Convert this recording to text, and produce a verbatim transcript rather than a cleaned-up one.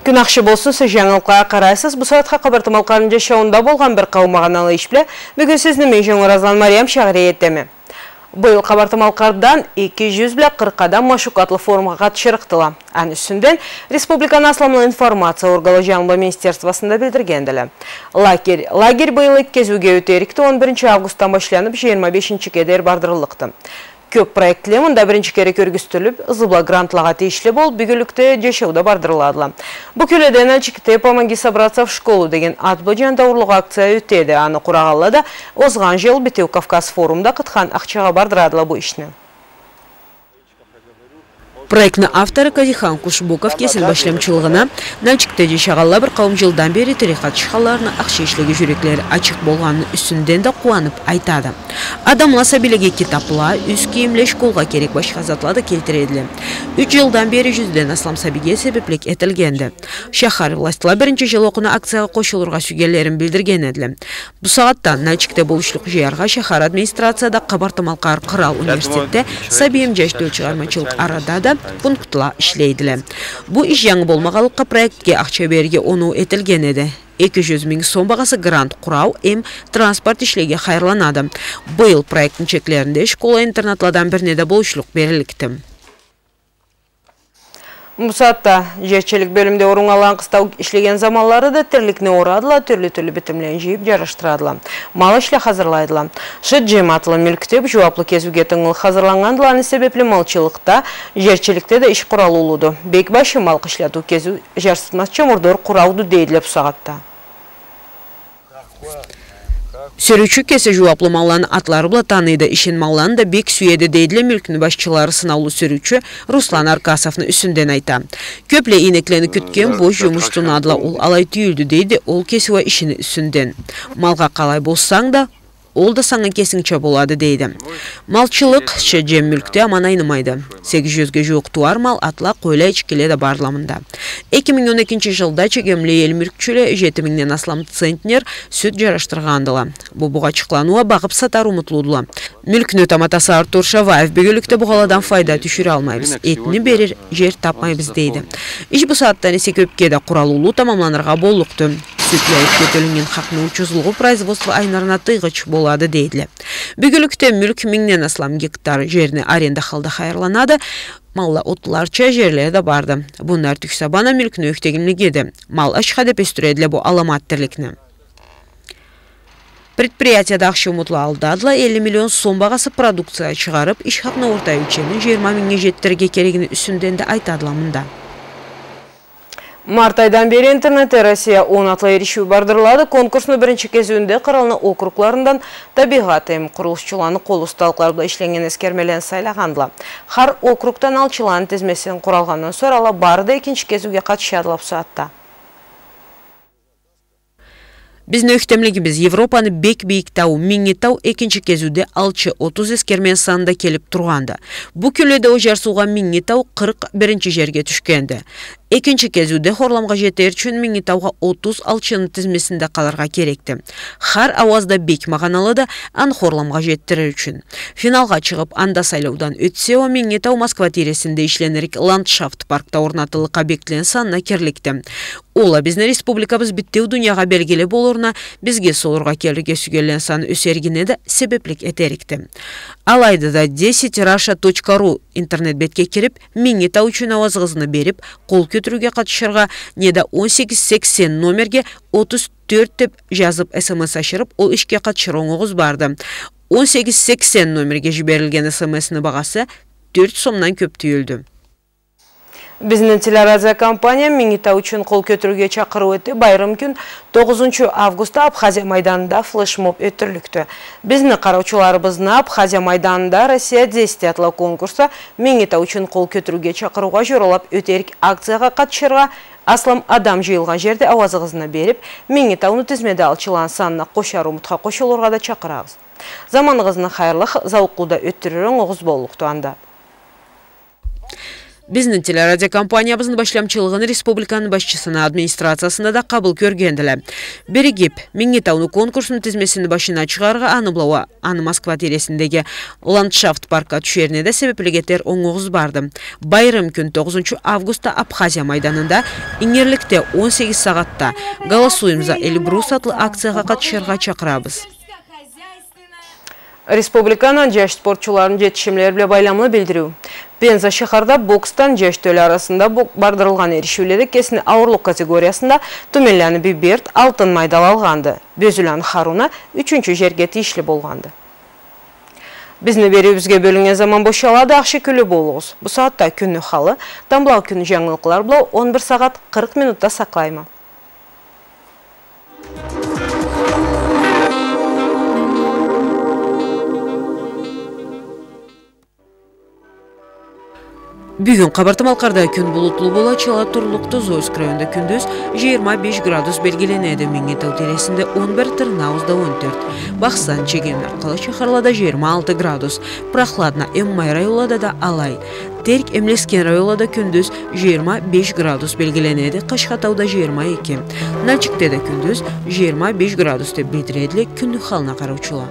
Кюн ахшы болсун, сиз жангылыкълагъа къарайсыз. Бу сагъатха Къабарты-Малкъарны жашауунда болгъан бир къауум магъаналы иш бла бюгюн сизни мен, Жангур Азлан, Мариям Шагъри этеме. Быйыл Къабарты-Малкъардан эки жюз бла къыркъ адам Машукатлы форумгъа къатышырыкъдыла. Аны юсюнден республиканы асламлы информация органла жангылыу министерствосунда билдиргендиле. Лагерь, лагерь быйыл эки кезиуге ётерикди, он биринчи августдан башланып, жыйырма бешинчиге дери бардырыллыкъды. Кёп проектле мында биринчи кере кёргюзтюлюп, ызы бла грантлагъа тийишли болуп, бюгюнлюкде жашауда бардырыладыла. Бу кюлде Нальчикде «Помоги собраться в школу» деген ат бла жандаурлукъ акция ётеди. Аны къурагъанла да озгъан жыл Битеу Кавказ форумда къытхан ахчагъа бардырадыла бу ишни. Проектни автору Казихан Кушбуков кесини башлаучулугъуна Нальчикде жашагъанла бир къауум жылдан бери тирек къатышханларына ахшы ишлеге жюреклери ачыкъ болгъаныны юсюнден да къууанып айтады. Адамла сабийлеге китапла, юс кийимле, школгъа керек башха затла да келтиредиле. Юч жылдан бери жюзден аслам сабийге себеплик этилгенди. Шахар властла биринчи жыл окъуна акциягъа къошулургъа сюйгенлерин билдирген эдиле. Бу сагъатда Нальчикде болушлукъ жыйыргъа шахар администрацияда, Къабарты-Малкъар къырал университетде сабий эм жаш тёлчыгъармачылыкъ арада да пунктла ишлейдиле. Бу иш жангы болмагъанлыкъгъа, проектге ахча берирге оноу этилген эди. Эки жюз минг сом багъасы грант къурау эм транспорт ишлеге хайырланады. Быйыл проектни чеклеринде школа-интернатладан бирине да болушлукъ берилликди. Бу сагъатда жерчилик бёлюмде оруннган къыстау ишлеген заманлары да тирликни орадыла, тюрлю-тюрлю битимлени жыйып жарашдырадыла. Мал ишле хазырлайдыла. Шыт-жем атлы мюлк деп жууаплы кезиуге тынгылы хазырланнгандыла, аны себепли малчылыкъда, жерчиликде да иш къуралы уллуду. Бек башы мал къышлатыу кезиу жарсытмазча мурдор къурауду дейдиле бу сагъатда. Сюрюучю кеси жууаплы малланы атлары бла таныйды, ишин, малланы да бек сюеди, дейдиле мюлкню башчылары. Сынаулу сюрюучю Руслан Аркасовну юсюнден айта. Кёпле ийнеклени кютген бош жумуш тунадыла, ол алай тюйюлдю, дейди ол кеси уа ишини юсюнден. Малгъа къалай болсанг да, ол да санга кесингча болады, дейди. Малчылыкъ, шыт-жем мюлкде аман айнымайды. Сегиз жюзге жууукъ тууар мал, атла, къойла, эчкиле да бардыла мында. Эки минг он экинчи жылда чегемли эл мюлкчюле жети мингден аслам центнер сют жарашдыргъандыла. Бу бугъачыкъланы уа багъып сатар умутлудула. Мюлкню таматасы Артур Шаваев бюгюнлюкде бугъаладан файда тюшюралмайбыз, этни берир жер тапмайбыз, дейди. Иш бу сагъатдан эсе кёпге да къуралыулу тамамланыргъа боллукъду. Сют жайып кётюрюлген хакъны учузлугъу производство айнырына тыйгъыч болады, дейдиле. Бюгюнлюкде мюлк мингден аслам гектар жерни аренда халда хайырланады. Малла отларча жерле да барды. Бунлар тюксабана мюлкню ёхтегинлигиди. Мал ашха деп ёсдюредиле бу аламат тирликни. Предприятияда ахшы умутла алдадыла, элли миллион сом багъасы продукция чыгъарып, иш хакъны орта ёлчемин жыйырма мингнге жетдирирге керегини юсюнден да айтадыла мында. Март айдан бери «Интернетде Россия он» атлы эришиу бардырылады. Конкурсну биринчи кезиуюнде къыралны округларындан табигъат эм къурулушчуланы къол усталыкълары бла ишленнген эсгермелени сайлагъандыла. Хар округдан алчыланы тизмесин къуралгъандан сора, ала бары да экинчи кезиуге къатышадыла бу сагъатда. Бизни ёхтемлигибиз, Европаны бек бийик тауу Минги тау экинчи кезиуде алчы отуз эсгермени санында келип тургъанды. Бу кюлде ол жарсыугъа Минги тау къыркъ биринчи жерге тюшгенди. Экинчи кезиуде хорламгъа жетер ючюн Минги таугъа отуз алчыны тизмесинде къалыргъа керекди. Хар ауаз да бек магъаналыды, аны хорламгъа жетдирир ючюн. Финалгъа чыгъып, анда сайлаудан ётсе уа, Минги тау Москва тийресинде ишленирлик ландшафт паркда орнатыллыкъ объектлени санына кирликди. Ол а бизни республикабыз битеу дуниягъа белгили болурна, бизге солургъа келирге сюйгенлени саны ёсеригине да себеплик этерикди. Алайды да, десять раша точка ру интернет бетге кирип, Минги тау ючюн ауазыгъызны берип, къол кётюрюуге къатышыргъа, неда он сегиз сексен номерге отуз тёрт деп жазып, СМС ашырып, ол ишге къатышыр онгугъуз барды. Он сегиз сексен номерге жиберилген СМСни багъасы тёрт сомдан кёп тюйюлдю. Бизни телерадиокомпания Минги тау ючюн къол кётюрюуге чакъырыу этди. Байрам кюн, тогъузунчу августда, Абхазия майданында флешмоб ётдюрлюкдю. Бизни къараучуларыбызны Абхазия майданында «Россия десять» атлы конкурсда Минги тау ючюн къол кётюрюуге чакъырыугъа жоралап ётерик акциягъа къатышыргъа, аслам адам жыйылгъан жерде ауазыгъызны берип, Минги тауну тизмеде алчыланы санына къошар умутха къошулургъа да чакъырабыз. Заманыгъызны хайырлы, зауукълу да ётдюрюр онгугъуз боллукъду анда. Бизни телерадиокомпаниябызны башламчылыгъын республиканы башчысыны администрациясында да къабыл кёргендиле. Биригип, Минги тауну конкурсну тизмесини башына чыгъаргъа, аны бла уа аны Москва тийресиндеги ландшафт паркга тюшерине да себеплик этер онгугъуз барды. Байрам кюн, тогъузунчу августда, Абхазия майданында, ингирликде, он сегиз сагъатда «Голосуем за Эльбрус» атлы акциягъа къатышыргъа чакъырабыз. Республиканы джаш спортчуларыны джетишимлери бла байламлы билдириу. Пенза шахарда боксдан джаш тёлю арасында бо-, бардырылгъан эришиуледе кесини ауурлукъ категориясында Тюменланы Бийберт алтын майдал алгъанды. Бёзюланы Харуна ючюнчю джерге тийишли болгъанды. Бизни бериуюбюзге бёлюннген заман бошалады, ахшы кюйлю болугъуз. Бу сагъатда кюнню халы, тамблагъы кюнню джангылыкълары бла он бир сагъат къыркъ минутда сакълайма. Бюгюн Къабарты-Малкъарда кюн булутлу болачхала, турлукъду. Зойск районда кюндюз джыйырма беш градус белгиленеди, Минги тау тийресинде он бир, Тырныауузда он тёрт, Бахсан, Чегем, Нарткъала шахарлада джыйырма алты градус, прохладно эм май районлада да алай. Терк эм Лескен районлада кюндюз джыйырма беш градус белгиленеди, Къашхатауда джыйырма эки, Нальчикде да кюндюз джыйырма беш градус деб билдиредиле кюнню халына къараучула.